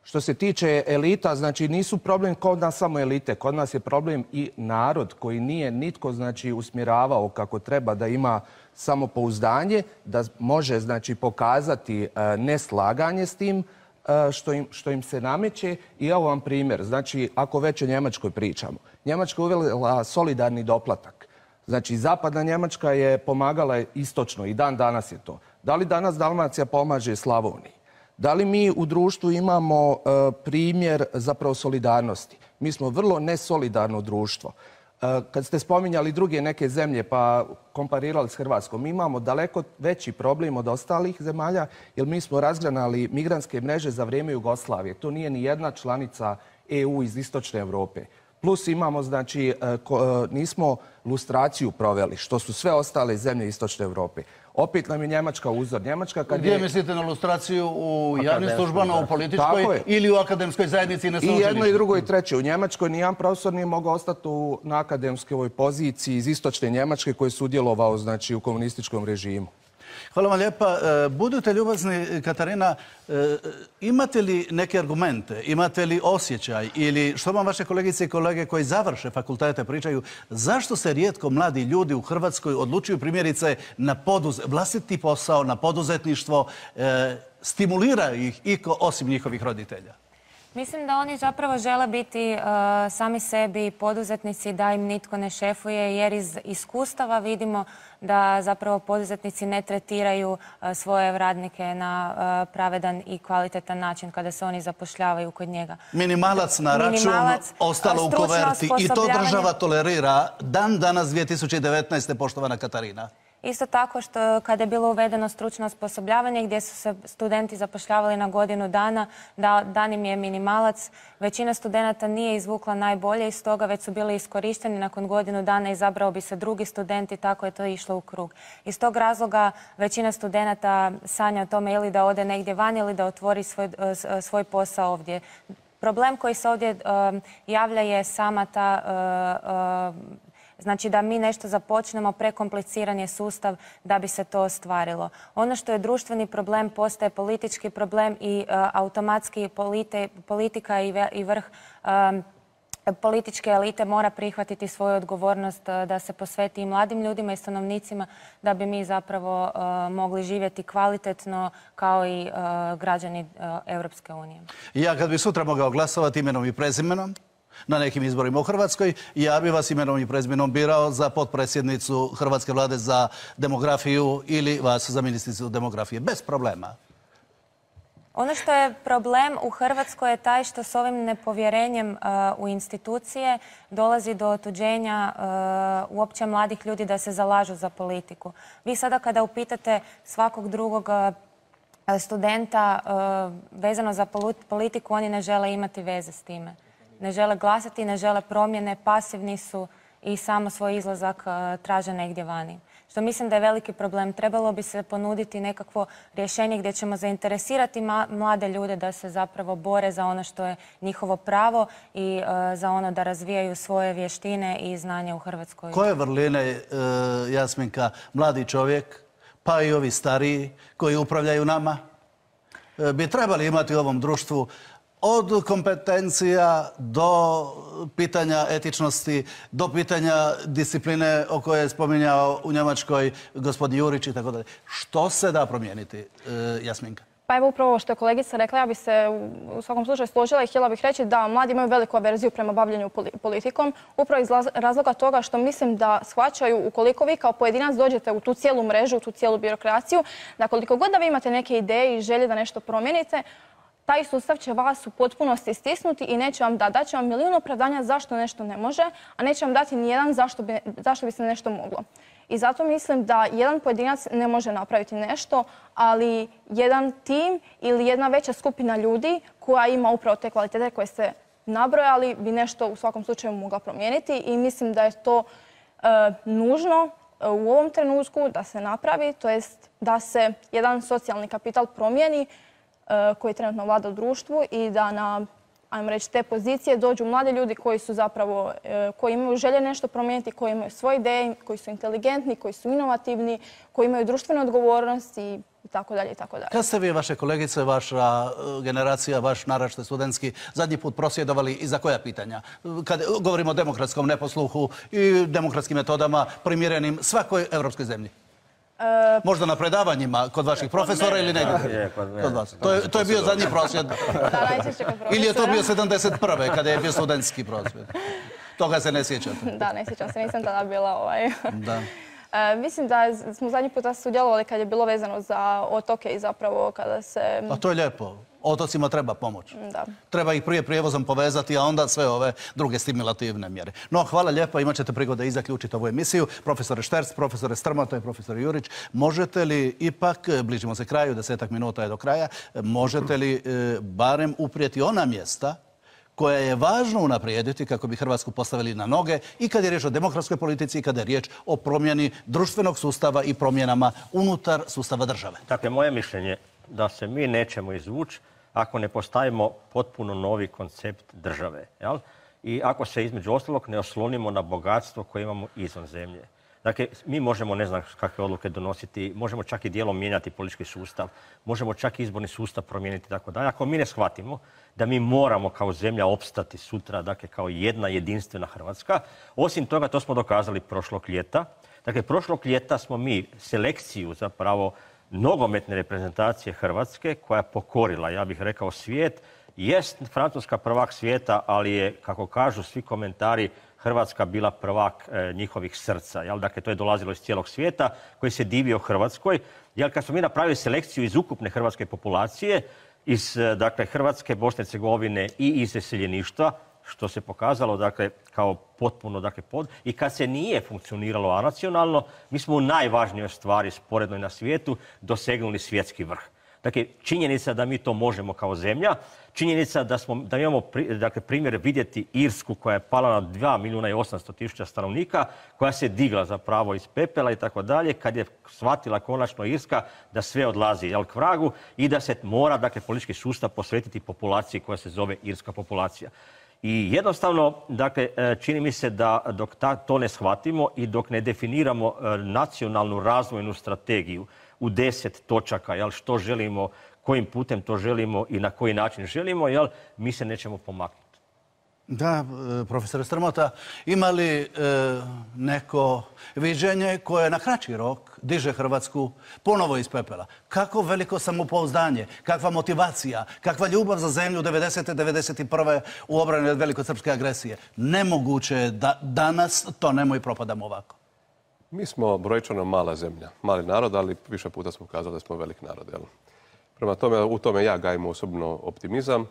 Što se tiče elita, znači nisu problem kod nas samo elite, kod nas je problem i narod koji nije nitko znači usmjeravao kako treba da ima samopouzdanje, da može znači pokazati neslaganje s tim što im se nameće. I evo vam primjer, znači ako već o Njemačkoj pričamo. Njemačka je uvela solidarni doplatak. Znači zapadna Njemačka je pomagala istočno i dan danas je to. Da li danas Dalmacija pomaže Slavoniji? Da li mi u društvu imamo primjer zapravo solidarnosti? Mi smo vrlo nesolidarno društvo. Kad ste spominjali druge neke zemlje pa komparirali s Hrvatskom, mi imamo daleko veći problem od ostalih zemalja jer mi smo razgranali migrantske mreže za vrijeme Jugoslavije. To nije ni jedna članica EU iz Istočne Europe. Plus imamo, znači, nismo lustraciju proveli, što su sve ostale zemlje Istočne Europe. Opet nam je Njemačka uzor. Gdje mislite na lustraciju? U javnim službama, u političkoj ili u akademskoj zajednici i na sveučilištu? I jedno i drugo i treće. U Njemačkoj nijedan profesor nije mogao ostati na akademskoj poziciji iz Istočne Njemačke koji je sudjelovao znači, u komunističkom režimu. Hvala vam lijepa. Budite ljubazni, Katarina, imate li neke argumente, imate li osjećaj ili što vam vaše kolegice i kolege koji završe fakultete pričaju, zašto se rijetko mladi ljudi u Hrvatskoj odlučuju primjerice na vlastiti posao, na poduzetništvo, stimulira ih iko osim njihovih roditelja? Mislim da oni zapravo žele biti sami sebi poduzetnici, da im nitko ne šefuje, jer iz iskustava vidimo da zapravo poduzetnici ne tretiraju svoje radnike na pravedan i kvalitetan način kada se oni zapošljavaju kod njega. Minimalac na račun, ostalo u koverti i to država tolerira dan danas 2019. poštovana Katarina. Isto tako što kada je bilo uvedeno stručno osposobljavanje gdje su se studenti zapošljavali na godinu dana, dan im je minimalac. Većina studenata nije izvukla najbolje iz toga, već su bili iskorišteni. Nakon godinu dana izabrao bi se drugi student i tako je to išlo u krug. Iz tog razloga većina studenata sanja o tome ili da ode negdje van ili da otvori svoj posao ovdje. Problem koji se ovdje javlja je sama ta... Znači da mi nešto započnemo, prekompliciran je sustav da bi se to ostvarilo. Ono što je društveni problem postaje politički problem i automatski politika i vrh političke elite mora prihvatiti svoju odgovornost da se posveti i mladim ljudima i stanovnicima da bi mi zapravo mogli živjeti kvalitetno kao i građani Europske unije. Ja kad bi sutra mogao glasovati imenom i prezimenom na nekim izborima u Hrvatskoj, ja bi vas imenom i prezimenom birao za potpredsjednicu Hrvatske vlade za demografiju ili vas za ministricu demografije. Bez problema. Ono što je problem u Hrvatskoj je taj što s ovim nepovjerenjem u institucije dolazi do otuđenja uopće mladih ljudi da se zalažu za politiku. Vi sada kada upitate svakog drugog studenta vezano za politiku, oni ne žele imati veze s time. Ne žele glasati, ne žele promjene, pasivni su i samo svoj izlazak traže negdje vani. Što mislim da je veliki problem. Trebalo bi se ponuditi nekakvo rješenje gdje ćemo zainteresirati mlade ljude da se zapravo bore za ono što je njihovo pravo i za ono da razvijaju svoje vještine i znanje u Hrvatskoj. Koje vrline, Jasminka, mladi čovjek, pa i ovi stariji koji upravljaju nama, bi trebali imati u ovom društvu od kompetencija do pitanja etičnosti, do pitanja discipline o kojoj je spominjao u Njemačkoj gospodin Jurić i tako dalje. Što se da promijeniti, Jasminka? Pa evo upravo ovo što je kolegica rekla, ja bih se u svakom slučaju složila i htjela bih reći da mladi imaju veliku averziju prema bavljenju politikom, upravo iz razloga toga što mislim da shvaćaju ukoliko vi kao pojedinac dođete u tu cijelu mrežu, u tu cijelu birokraciju, da koliko god da vi imate neke ideje i želje da nešto promijenite, taj sustav će vas u potpunosti stisnuti i neće vam dati. Daće vam milijun opravdanja zašto nešto ne može, a neće vam dati nijedan zašto bi se nešto moglo. I zato mislim da jedan pojedinac ne može napraviti nešto, ali jedan tim ili jedna veća skupina ljudi koja ima upravo te kvalitete koje ste nabrojali bi nešto u svakom slučaju mogla promijeniti i mislim da je to nužno u ovom trenutku da se napravi, to jest da se jedan socijalni kapital promijeni koji trenutno vlada u društvu i da na, ajmo reći, te pozicije dođu mladi ljudi koji su zapravo, koji imaju želje nešto promijeniti, koji imaju svoje ideje, koji su inteligentni, koji su inovativni, koji imaju društvenu odgovornost i tako dalje i tako dalje. Kad ste vi, vaše kolegice, vaša generacija, vaš naraštaj studentski, zadnji put prosvjedovali i za koja pitanja? Kad govorimo o demokratskom neposluhu i demokratskim metodama primjerenim svakoj evropskoj zemlji? Možda na predavanjima kod vaših profesora ili negdje? Kod vas. To je bio zadnji prosvjed. Ili je to bio 71. kada je bio studentski prosvjed? Toga se ne sjećate? Da, ne sjećam se, nisam tada bila Da. Mislim da smo zadnji puta sudjelovali kad je bilo vezano za otoke i zapravo kada se... A to je lijepo. Otocima treba pomoć. Da. Treba ih prije prijevozom povezati, a onda sve ove druge stimulativne mjere. No, hvala lijepo, imat ćete prigode i zaključiti ovu emisiju. Profesore Šterc, profesore Strmota i profesor Jurić, možete li ipak, bližimo se kraju, 10 minuta je do kraja, možete li barem uprijeti ona mjesta koja je važno unaprijediti kako bi Hrvatsku postavili na noge i kad je riječ o demokratskoj politici i kada je riječ o promjeni društvenog sustava i promjenama unutar sustava države? Dakle, moje mišljenje da se mi nećemo izvući ako ne postavimo potpuno novi koncept države. Jel? I ako se između ostalog ne oslonimo na bogatstvo koje imamo izvan zemlje. Dakle, mi možemo ne znam kakve odluke donositi, možemo čak i dijelom mijenjati politički sustav, možemo čak i izborni sustav promijeniti i tako dalje. Ako mi ne shvatimo da mi moramo kao zemlja opstati sutra, dakle kao jedna jedinstvena Hrvatska, osim toga to smo dokazali prošlog ljeta. Dakle, prošlog ljeta smo mi selekciju zapravo nogometne reprezentacije Hrvatske koja je pokorila, ja bih rekao, svijet. Jest Francuska prvak svijeta, ali je, kako kažu svi komentari, Hrvatska bila prvak njihovih srca. Jel? Dakle, to je dolazilo iz cijelog svijeta koji se divio Hrvatskoj. Jel, kad smo mi napravili selekciju iz ukupne hrvatske populacije, iz dakle, Hrvatske, Bosne i Hercegovine i iz iseljeništva, što se pokazalo dakle, kao potpuno i kad se nije funkcioniralo anacionalno, mi smo u najvažnijoj stvari sporednoj na svijetu dosegnuli svjetski vrh. Dakle, činjenica da mi to možemo kao zemlja, činjenica da imamo primjer vidjeti Irsku koja je pala na 2.800.000 stanovnika, koja se digla zapravo iz pepela i tako dalje, kad je shvatila konačno Irska da sve odlazi k vragu i da se mora politički sustav posvetiti populaciji koja se zove irska populacija. I jednostavno, dakle, čini mi se da dok to ne shvatimo i dok ne definiramo nacionalnu razvojnu strategiju u 10 točaka, jel, što želimo, kojim putem to želimo i na koji način želimo, jel, mi se nećemo pomaknuti. Da, profesor Strmota, ima li neko viđenje koje na kraći rok diže Hrvatsku ponovo iz pepela? Kako veliko samopouzdanje, kakva motivacija, kakva ljubav za zemlju 90. 91. u obrani od velikosrpske agresije? Nemoguće je da danas tonemo i propadamo ovako. Mi smo brojčano mala zemlja, mali narod, ali više puta smo kazali da smo velik narod. Jel? Prema tome, u tome ja gajim osobno optimizam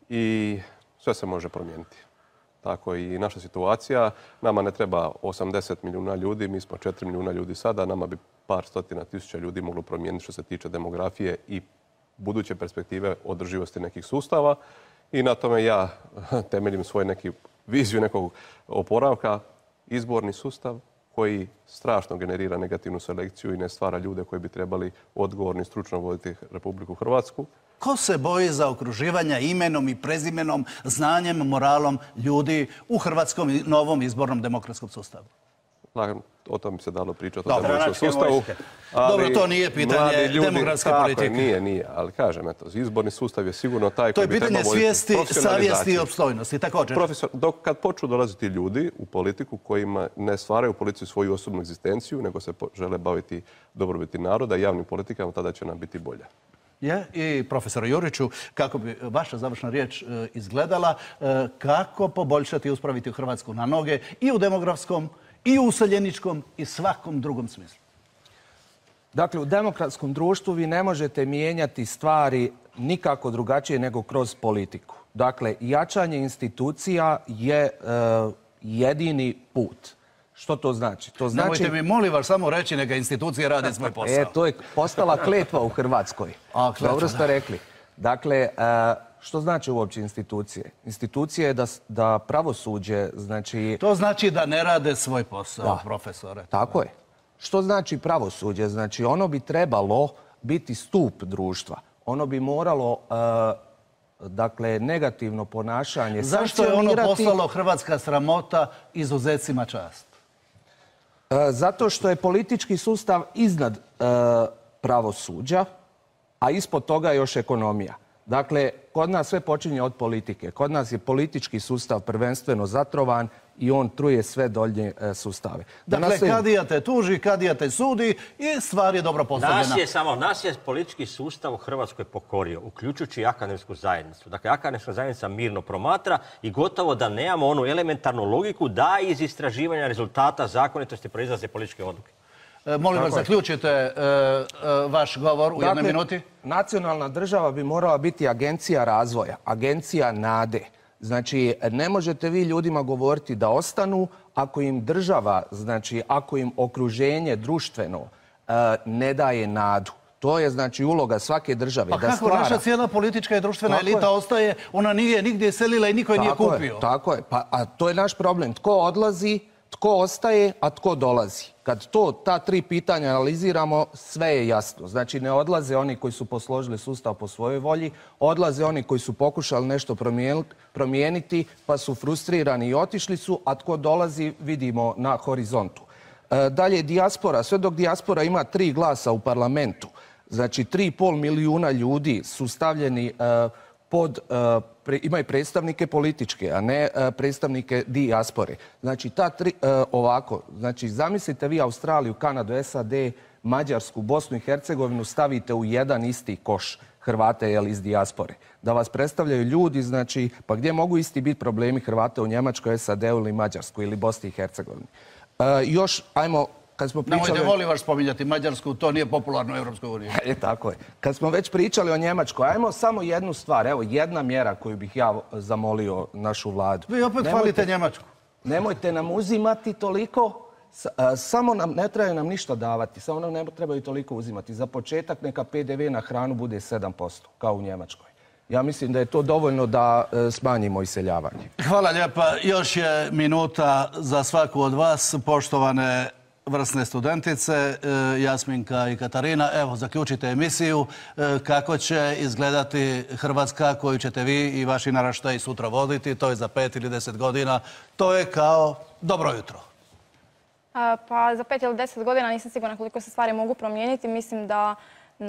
i sve se može promijeniti. Tako i naša situacija. Nama ne treba 80 milijuna ljudi, mi smo 4 milijuna ljudi sada, nama bi par stotina tisuća ljudi moglo promijeniti što se tiče demografije i buduće perspektive održivosti nekih sustava. I na tome ja temeljim svoju viziju nekog oporavka, izborni sustav koji strašno generira negativnu selekciju i ne stvara ljude koji bi trebali odgovorno i stručno voditi Republiku Hrvatsku. Ko se boji za okruživanja imenom i prezimenom, znanjem, moralom ljudi u hrvatskom novom izbornom demokratskom sustavu? O tom bi se dalo pričati o demokratskom sustavu. Dobro, to nije pitanje demografske politike. Nije, ali kažem, izborni sustav je sigurno taj koji bi trebao voditi profesionalizaciju. To je pitanje svijesti, savjesti i opstojnosti, također. Kad počnu dolaziti ljudi u politiku kojima ne stvaraju u policiji svoju osobnu egzistenciju, nego se žele baviti dobrobiti naroda i javnim politikama, tada će nam biti bolje. I profesor Juriću, kako bi vaša završna riječ izgledala, kako poboljšati i uspraviti Hrvatsku na noge i u demografskom, i u useljeničkom i svakom drugom smislu? Dakle, u demokratskom društvu vi ne možete mijenjati stvari nikako drugačije nego kroz politiku. Dakle, jačanje institucija je jedini put. Što to znači? Nemojte mi, molim vas, samo reći neka institucije rade svoj posao. To je postala kletva u Hrvatskoj. Dobro ste rekli. Dakle, što znači uopće institucije? Institucije je da pravosuđe, znači... To znači da ne rade svoj posao, profesore. Tako je. Što znači pravosuđe? Znači, ono bi trebalo biti stup društva. Ono bi moralo, dakle, negativno ponašanje Zašto je ono poslalo Hrvatska sramota izuzecima čast? Zato što je politički sustav iznad pravosuđa a ispod toga još ekonomija. Dakle, kod nas sve počinje od politike. Kod nas je politički sustav prvenstveno zatrovan i on truje sve dolje sustave. Dakle, kadija te tuži, kadija te sudi i stvar je dobro postavljena. Nas je politički sustav u Hrvatskoj pokorio, uključujući i akademsku zajednicu. Dakle, akademska zajednica mirno promatra i gotovo da nemamo onu elementarnu logiku da iz istraživanja rezultata zakonitosti proizlaze političke odluke. Molim vas, zaključite vaš govor u jednoj minuti. Nacionalna država bi morala biti agencija razvoja, agencija nade. Znači, ne možete vi ljudima govoriti da ostanu ako im država, znači ako im okruženje društveno ne daje nadu. To je znači uloga svake države. Pa kako naša cijela politička i društvena elita ostaje, ona nije nigdje selila i niko je nije kupio. Tako je, a to je naš problem. Tko odlazi, tko ostaje, a tko dolazi. Kad ta tri pitanja analiziramo, sve je jasno. Znači, ne odlaze oni koji su posložili sustav po svojoj volji, odlaze oni koji su pokušali nešto promijeniti, pa su frustrirani i otišli su, a tko dolazi vidimo na horizontu. Dalje, dijaspora. Sve dok dijaspora ima 3 glasa u parlamentu, znači 3,5 milijuna ljudi su stavljeni imaju predstavnike političke, a ne predstavnike dijaspore. Znači, znači, zamislite vi Australiju, Kanadu, SAD, Mađarsku, Bosnu i Hercegovinu stavite u jedan isti koš Hrvate iz dijaspore. Da vas predstavljaju ljudi, znači, pa gdje mogu isti biti problemi Hrvata u Njemačkoj, SAD-u ili Mađarskoj ili Bosni i Hercegovini. Još, ajmo, nemojte, molim vas, spominjati Mađarsku, to nije popularno u Europskoj uniji. Tako je. Kad smo već pričali o Njemačkoj, ajmo samo jednu stvar, evo jedna mjera koju bih ja zamolio našu vladu. Vi opet hvalite Njemačku. Nemojte nam uzimati toliko, samo ne trebaju nam ništa davati, samo nam ne trebaju toliko uzimati. Za početak neka PDV na hranu bude 7%, kao u Njemačkoj. Ja mislim da je to dovoljno da smanjimo iseljavanje. Hvala lijepa. Još je minuta za svaku od vas, poštovane vrsne studentice, Jasminka i Katarina. Evo, zaključite emisiju. Kako će izgledati Hrvatska koju ćete vi i vaši naraštaji sutra voditi? To je za 5 ili 10 godina. To je kao dobro jutro. Pa za 5 ili 10 godina nisam sigurna koliko se stvari mogu promijeniti. Mislim da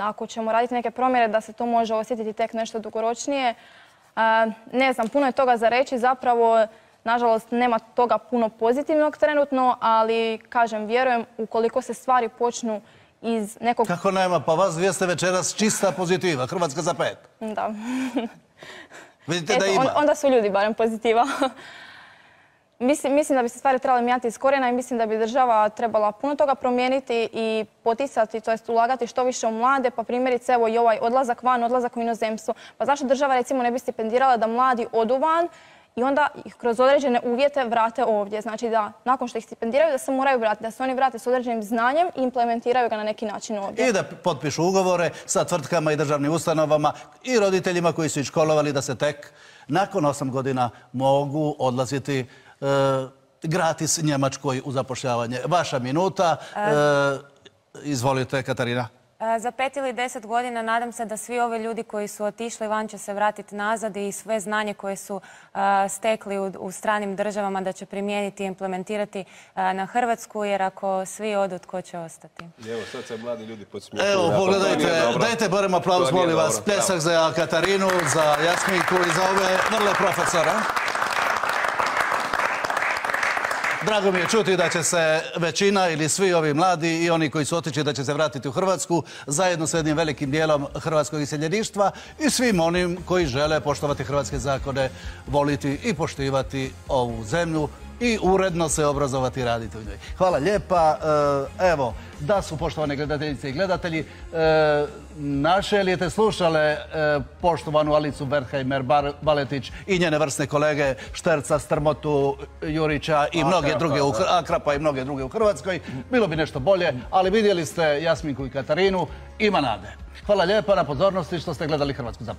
ako ćemo raditi neke promjene da se to može osjetiti tek nešto dugoročnije. Ne znam, puno je toga za reći. Zapravo, nažalost, nema toga puno pozitivnog trenutno, ali, kažem, vjerujem ukoliko se stvari počnu iz nekog... Kako nema? Pa vas dvije ste večeras čista pozitiva. Hrvatska za 5. Da. Vidite da ima. Onda su ljudi barem pozitiva. Mislim da bi se stvari trebali mijenjati iz korijena i mislim da bi država trebala puno toga promijeniti i poticati, to jest ulagati što više u mlade, pa primjerice evo i ovaj odlazak van, odlazak u inozemstvo. Pa zašto država recimo ne bi stipendirala da mladi odu van i onda ih kroz određene uvjete vrate ovdje. Znači da nakon što ih stipendiraju da se moraju vratiti, da se oni vrate s određenim znanjem i implementiraju ga na neki način ovdje. I da potpišu ugovore sa tvrtkama i državnim ustanovama i roditeljima koji su ih školovali da se tek nakon 8 godina mogu odlaziti gratis Njemačkoj u zapošljavanje. Vaša minuta. Izvolite, Katarina. Za 5 ili 10 godina nadam se da svi ovi ljudi koji su otišli van će se vratiti nazad i sve znanje koje su stekli u stranim državama da će primijeniti i implementirati na Hrvatsku, jer ako svi odu, tko će ostati? Evo, sad se mladi ljudi podsmijehuju. Evo, pogledajte, dajte barem aplauz, molim vas. Pljesak za Katarinu, za Jasminku i za ove vrle profesore. Drago mi je čuti da će se većina ili svi ovi mladi i oni koji su otišli da će se vratiti u Hrvatsku zajedno s jednim velikim dijelom hrvatskog iseljeništva i svim onim koji žele poštovati hrvatske zakone, voliti i poštivati ovu zemlju i uredno se obrazovati i raditi u njoj. Hvala lijepa. Evo, da su poštovane gledateljice i gledatelji, naše lijete slušale poštovanu Alicu Wertheimer-Baletić i njene vrsne kolege Šterca, Strmotu, Jurića i mnoge druge, Akrapa i mnoge druge u Hrvatskoj. Bilo bi nešto bolje, ali vidjeli ste Jasminku i Katarinu, ima nade. Hvala lijepa na pozornosti što ste gledali Hrvatsku za 5.